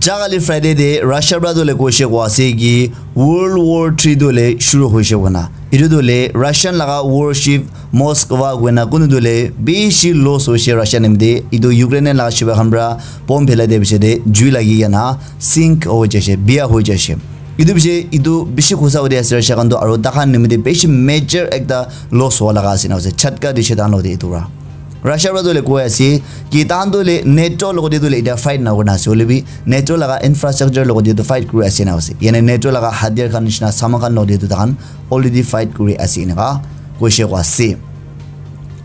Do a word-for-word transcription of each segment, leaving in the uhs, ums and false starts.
Jagale Friday de Russia pra tu le koishe kwa ase ki World War three tu le shuru hoishe kona. Itu tu le Russian laga warship Moskva koina kunu tu le bishi loss hoishe Russian nimite. Itu Ukrainian laga shiba khan pra bomb phelai de bishi de jui lagi kena sink hoi jaishe, biya hoi jaishe. Itu bishi, itu bishi khosa hoi de ase Russia khan tu, aro takhan nimite bishi major ekta loss hoa laga ase na ase. Chatka dishe tahan lode itu pra. Russia pra tu le koi ase ki tahan tu le NATO logode tu le ita fight na kurna ase. Hoile bi NATO laga infrastructure logode tu fight kuri ase na ase. Yane NATO laga hatiar khan nishina saman khan logode tu tahan already fight kuri ase eneka koishe kwa ase.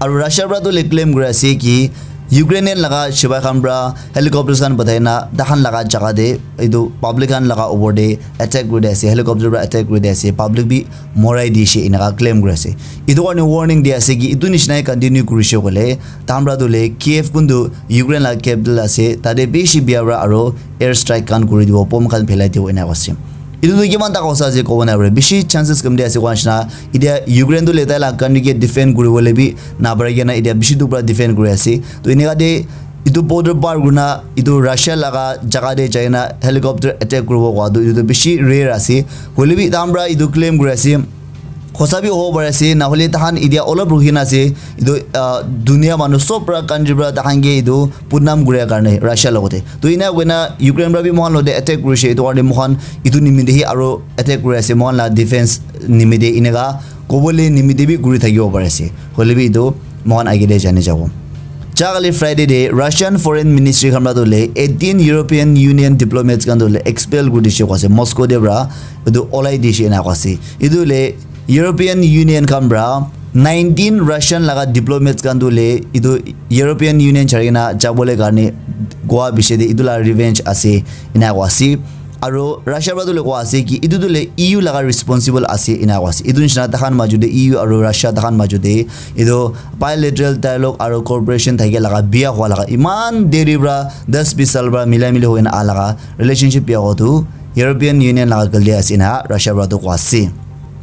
Aru Russia pra tu le claim kuri ase ki Ukrainian laga shibai khan pra helicopters khan pathai na tahan laga jaga de itu public khan laga opor de attack kuri de ase, helicopter pra attack kuri de ase, public bi morai dishe eneka claim kuri ase. Itu karne warning di ase ki itu nishina continue kurishe koile tahan pra tu le Kiev kuntu Ukraine laga capital ase, tate bishi biya pra aro air strike khan kuri dibo, bomb khan phelai dibo eneka ase. Itu tu kiman tak hosa ase kobo nai pare. Bishi chances kam de ase kowa nishina. Itia Ukraine tu le tai la country ke defend kuri bole bi na pare kena itia bishi duk pra defend kuri ase. To eneka de itu border par kurina itu Russia laga jaga de jaina helicopter attack kuribo kowa tu itu bishi rare ase. Hoile bi tahan pra itu claim kuri ase. Khosa bi hobo pare ase, nahole tahan itia olop rukhi na ase. Itu, ah, dunia manu sob pra country pra tahan ke itu budnam kuria karne Russia logote. To ina koina Ukraine pra bi mohan logote attack kurishe, itu karne mohan itu nimite hi aro attack kuri ase, mohan la defense nimite eneka kobole nimite bi kuri thakibo pari ase. Hoile bi itu mohan age te jani jabo. Jagale Friday de Russian Foreign Ministry khan pra tu le eighteen European Union diplomats khan tu le expel kuri dishe kwa ase Moscow de pra itu olai dishe ena kwa ase. Itu le European Union khan pra nineteen Russian laga diplomats khan tu le itu European Union chari kena jabole karne goa bishe de itu la revenge ase ena kwa ase. Aro Russia pra tu le koa ase ki itu tu le E U laga responsible ase ena koa ase. Itu nishina takhan maju de E U aro Russia takhan maju de itu bilateral dialogue aro cooperation thake laga biya hua laga iman deri pra das bis sal pra mila mili hoina a laga relationship biya hua tu European Union laga galti ase ena Russia pra tu koa ase.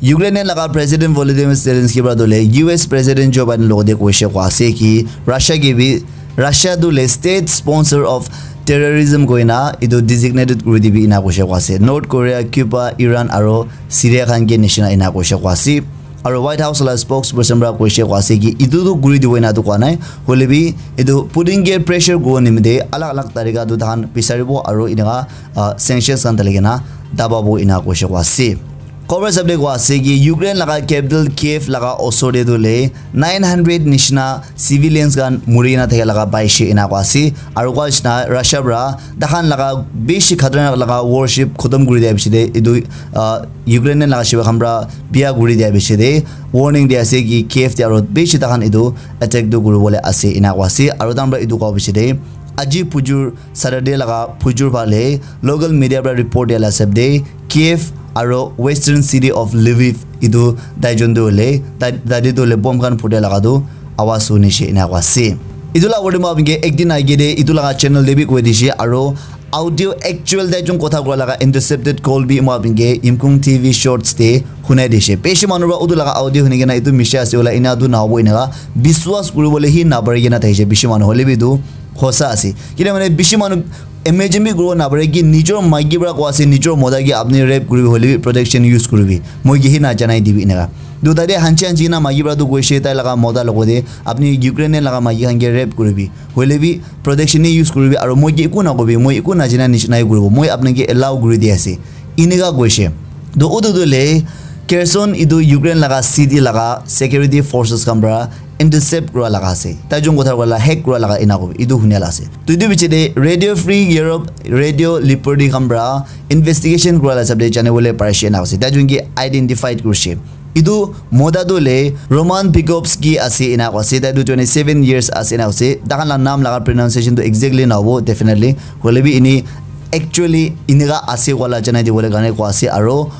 Ukraine laga President Volodymyr Zelensky pra tu le U S President Joe Biden logote koishe koa ase ki Russia ke bi Russia tu le state sponsor of terrorism koina itu designated kuri dibi ena koishe koa ase. North Korea, Cuba, Iran aro Syria khan ke nishina ena koishe koa ase. Aro White House la spokesperson pra koishe koa ase ki itu tu kuri dibo ena tu koa nai. Hoile bi itu Putin ke pressure kuri nimite alag alag tarika tu tahan bisaribo aro eneka, ah, sanctions khan dali kena dababo ena koishe koa ase. Khobor sabde koa ase ki Ukraine laga capital Kiev laga osor te tu le nine hundred nishina civilians khan muri na thaka laga paishe ena koa ase. Aro koa nishina Russia pra takhan laga bishi khatarnak laga warship khotom kuri dia bishi de itu, ah, Ukraine laga shiba khan pra biya kuri dia bishi de warning dia ase ki Kiev te aro bishi takhan itu attack tu kuri bole ase ena koa ase. Aro takhan pra itu koa bishi de aji pujur Saturday laga phujur phale local media pra report dia la hisab de Kiev aro western city of Lviv itu taijon tu hoile tai tate tu hoile bomb khan phutia laga tu awas hunishe ena koa ase. Itu la word ma apni ke ek din age de itu laga channel de bi koi dishe aro audio actual taijon kotha kura laga intercepted call bi ma apni ke Imkung T V shorts de hunai dishe. Bishi manu pra utu laga audio huni kena itu misha ase wala ena tu nahobo eneka biswas kuri bole hi na pari kena thaishe bishi manu hoile bi itu hosa ase. Kile mane bishi manu imagine bi kuribo napare ki nijor maiki pra koa ase, nijor mota ke apni rape kuribi hoile bi protection use kuribi. Moi ke hi na janai dibi eneka. Tu tate hanchi hanchi na maiki pra tu koishe tai laga mota logote apni Ukrainian laga maiki khan ke rape kuribi. Hoile bi protection ni use kuribi aro moi ke eku na kobi, moi eku na jana nishina hi kuribo. Moi apni ke allow kuri di ase. Eneka koishe. To utu tu le Kherson itu Ukraine laga city laga security forces khan pra intercept kura laga ase. Tai jun kotha kura la hack kura laga ena kobi. Itu hunia la ase. To itu biche de Radio Free Europe, Radio Liberty khan pra investigation kura la hisab de jane bole parishe ena ase. Tai jun ke identified kurishe. Itu mota tu le Roman Pikovsky ase ena ase. Tai tu twenty seven years ase ena ase. Takhan la naam laga pronunciation tu exactly na hobo, definitely. Hoile bi ini actually eneka ase wala janai dibole karne koa ase aro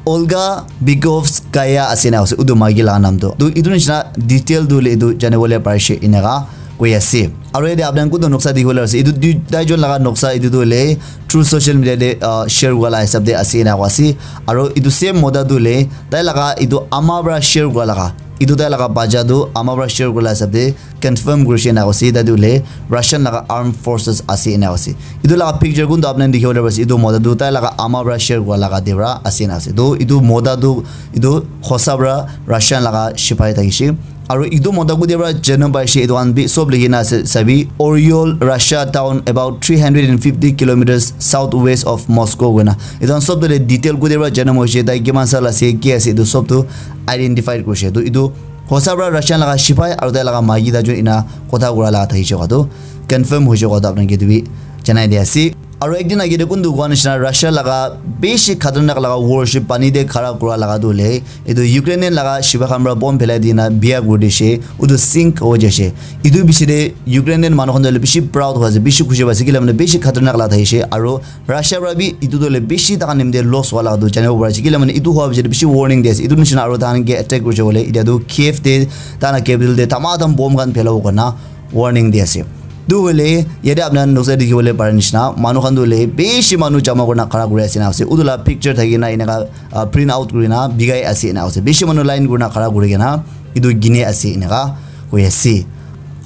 Olga Bikovskaya ase na ase, utu maiki laga naam tu. Tu itu nishina detail tu le itu jane bole parishe eneka koi ase. Aro yate apni khan kuntu noksa dikhi bole ase. Itu dui, taijon laga noksa itu tu le through social media de, ah, share kura la hisab de ase ena koa ase. Aro itu same mota tu le tai laga itu ama pra share kura laga Etu tai laga bacha tu ama para share kurila hisab te confirm kurishe ena ase, tai tu hoile Russian laga armed forces ase ena ase. Etu laga picture kun tu apni khan dikhi bole pari ase, etu mota tu tai laga ama para share kura laga te para ase ena ase. Tu etu mota tu etu hosa para Russian laga sipai thakishe. Aru etu mota kuti para janam paishe, etu khan bi sob likhi na ase sabi, Oryol, Russia town about three hundred and fifty kilometers southwest of Moscow koina. Etu khan sob tu detail kuti para janam hoishe, tai kiman sal ase, ki ase, etu sob tu identified kurishe. Tu etu hosa para Russian laga sipai aru tai laga maiki ta jun ena kotha kura laga thakishe koa tu confirm hoishe koa tu apni khan ke etu bi janai di ase. Aru ekdin age te kuntu koa nishina Russia laga bishi khatarnak laga warship pani te khara kura laga tu hoile etu Ukrainian laga sipai khan para bomb phelai dina biya kuri dishe, utu sink ho jaishe. Etu bishi te Ukrainian manu khan tu hoile bishi proud hoi ase, bishi khushi pai ase, kile mane bishi khatarnak laga thaishe. Aru Russia para bi etu tu hoile bishi takhan nimite loss hua laga tu janibo pari ase, kile mane etu hua bishi te bishi warning di ase. Etu nishina aru takhan ke attack kurishe koile etia tu Kiev te takhan la capital te tamatam bomb khan phelabo koina warning di ase. Tu hoile yate apni khan noksa dikhi bole pare nishina manu khan tu hoile bishi manu jama kurina khara kuri ase na ase. Utu la picture thaki na eneka, ah, print out kurina bikai ase ena ase. Bishi manu line kurina khara kuri kena etu gine ase eneka koi ase.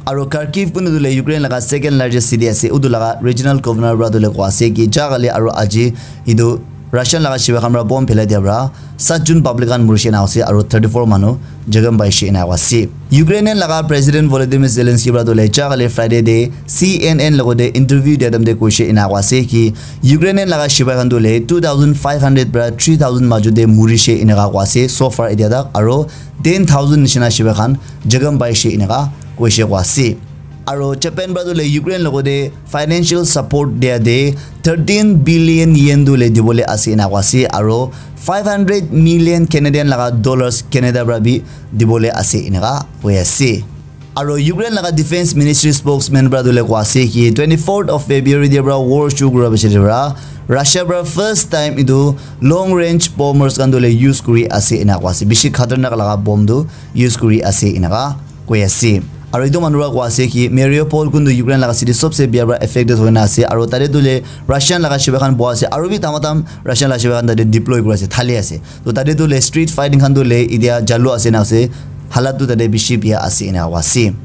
Aru Kharkiv kuntu tu hoile Ukraine laga second largest city ase. Utu laga regional governor para tu hoile koi ase ki ja kali aru aji etu Russian laga sipai khan para bomb phelai dia para sat jun public khan murishe na ase aru thirty four manu jakham paishe ena ase. Ukrainian laga President Volodymyr Zelensky para tu hoile ja kali Friday te C N N logote interview dia time te koishe ena ase ki Ukrainian laga sipai khan tu hoile two thousand five hundred para three thousand maju te murishe eneka koi ase so far etia tak, aru ten thousand nishina sipai khan jakham paishe eneka koishe koi ase. Aru Japan para tu hoile Ukraine logote financial support dia te thirteen billion yen tu hoile dibole ase ena koi ase, aru five hundred million Canadian laga dollars Canada para bi dibole ase eneka koi ase. Aru Ukraine laga defense ministry spokesman para tu hoile koi ase ki twenty fourth of February te para war shuru kura piche te para Russia para first time etu long range bombers khan tu hoile use kuri ase ena koi ase. Bishi khatarnak laga bomb tu use kuri ase eneka koi ase. Aru etu manu para koi ase ki Mariupol kuntu Ukraine laga city sobse bia para affected hoina ase. Aru tate tu hoile Russian laga sipai khan boha ase. Aru bi tamatam Russian laga sipai khan tate deploy kuri ase, thali ase. To tate tu hoile street fighting khan tu hoile etia jalu ase na ase. Halat tu tate bishi bia ase ena koi ase.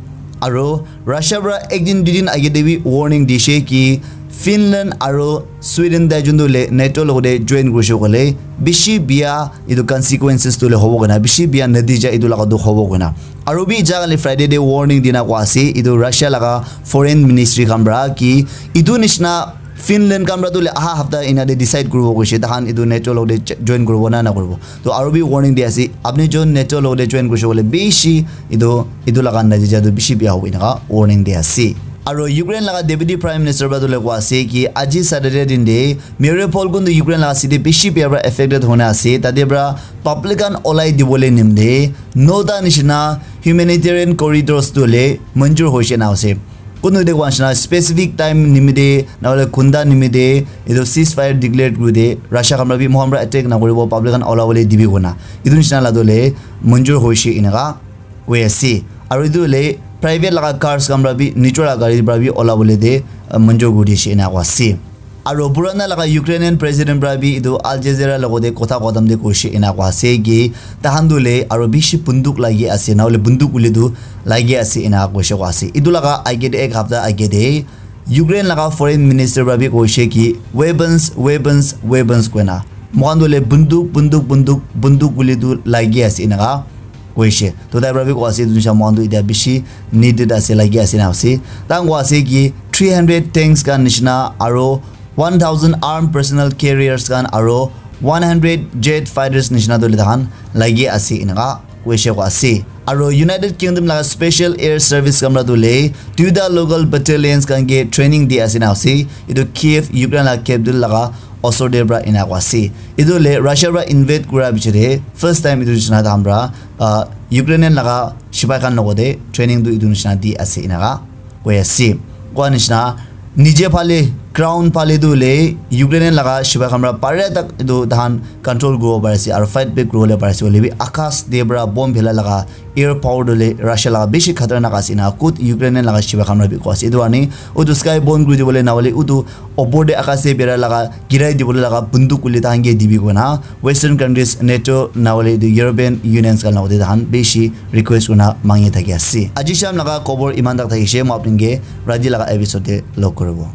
Aru Russia para ek din dui din age te bi warning dishe ki Finland aru Sweden tai jun tu hoile NATO logote join kurishe koile bishi bia etu consequences tu hoile hobo koina, bishi bia natija etu laga tu hobo koina. Aru bi ja kali Friday te warning dina koi ase etu Russia laga foreign ministry khan para ki etu nishina Finland khan para tu hoile aha hapta ena te decide kuribo koishe, takhan etu NATO logote ch-, join kuribo na na kuribo. To aru bi warning di ase, apni jon NATO logote join kurishe koile bishi etu, etu laga natija tu bishi bia hobo eneka warning di ase. Aru Ukraine laga Deputy Prime Minister para tu hoile koi ase ki aji Saturday din te Mariupol kuntu Ukraine laga city bishi bia para affected hoina ase, tate para public khan olai dibole nimite nota nishina humanitarian corridors tu hoile manjur hoishe na ase. Kunu te koi nishina specific time nimite na hoile ghonta nimite etu ceasefire declare kuri de Russia khan para bi moikhan para attack na kuribo, public khan ola bole dibi koina etu nishina la tu hoile manjur hoishe eneka koi ase. Aru etu hoile private laga cars khan para bi, nijor laga gari para bi ola bole de, ah, manjur kuri dishe ena koi ase. Aru purana laga Ukrainian president para bi etu Al Jazeera logote kotha kotam te koishe ena koi ase ki takhan tu hoile aru bishi bunduk lagi ase, na hoile bunduk hoile tu lagi ase ena koishe koi ase. Etu laga age te ek hapta age te Ukraine laga foreign minister para bi koishe ki weapons, weapons, weapons koina. Moikhan tu hoile bunduk, bunduk, bunduk, bunduk hoile tu lagi ase eneka koishe. To tai para bi koi ase etu nisha moikhan tu etia bishi needed ase, lagi ase na ase. Takhan koi ase ki three hundred tanks khan nishina aro one thousand armed personnel carriers khan aro one hundred jet fighters nishina tu hoile takhan lagi ase eneka koishe koi ase. Aro United Kingdom laga special air service khan para tu hoile duita local battalions khan ke training di ase na ase. Etu Kiev, Ukraine laga capital laga osor te para ena koi ase. Etu hoile Russia para invade kura piche te first time etu nishina takhan para, ah, Ukrainian laga sipai khan logote training tu etu nishina di ase eneka koi ase. Koa nishina nije phale Ground phale tu hoile Ukrainian laga sipai khan para pare tak etu tahan control kuribo pari ase aru fight back kuribole pari ase hoile bi akash te para bomb phela laga air power tu hoile Russia laga bishi khatarnak ase na kut Ukrainian laga sipai khan para bi koa ase etu karne utu sky bomb kuri dibole na hoile utu opor te akash te bera laga girai dibole laga bunduk hoile tahan ke dibi koina Western countries, NATO na hoile etu European Unions khan logote tahan bishi request kurina mangi thaki ase. Aji sham laga khobor iman tak thakishe, moi apni ke raiti laga episode te log kuribo.